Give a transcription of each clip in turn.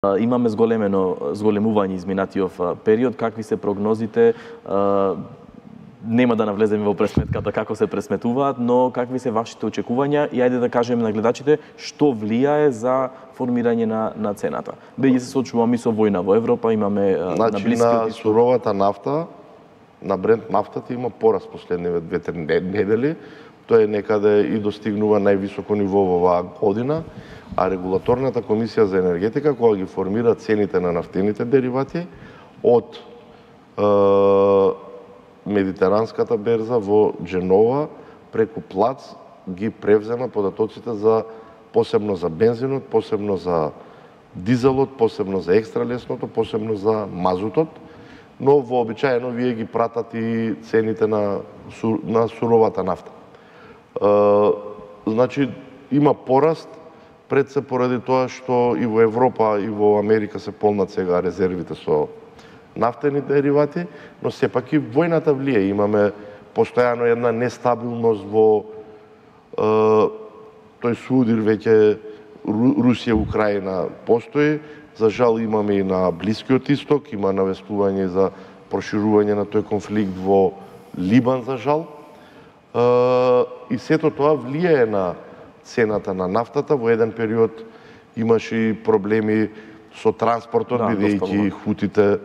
Имаме зголемување изминатиот период, какви се прогнозите? Нема да навлеземе во пресметката како се пресметуваат, но какви се вашите очекувања и ајде да кажеме на гледачите што влијае за формирање на цената. Бејќи се соочуваме со војна во Европа, имаме на Блискиот Исток. Суровата нафта, на Брент нафтата има пораст последниве 2-3 недели. Тоа е некаде и достигнува највисоко ниво во оваа година, а регулаторната комисија за енергетика кога ги формира цените на нафтените деривати од Медитеранската берза во Дженова преку плац ги превзема податоците за посебно за бензинот, посебно за дизелот, посебно за екстралесното, посебно за мазутот, но вообичаено вие ги пратат и цените на суровата нафта. Значи има пораст пред се поради тоа што и во Европа и во Америка се полнат сега резервите со нафтени деривати, но сепак и војната влие. Имаме постојано една нестабилност во тој судир веќе Русија, Украина постои. За жал имаме и на Блискиот Исток, има навестување за проширување на тој конфликт во Либан, за жал. И сето тоа влијае на цената на нафтата. Во еден период имаше и проблеми со транспортот, бидејќи хутите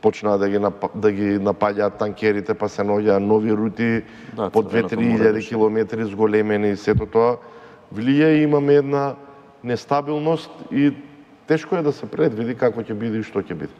почнаа да ги напаѓаат танкерите, па се наоѓаа нови рути по 2-3 километри зголемени. Сето тоа влијае, имаме една нестабилност и тешко е да се предвиди како ќе биде и што ќе биде.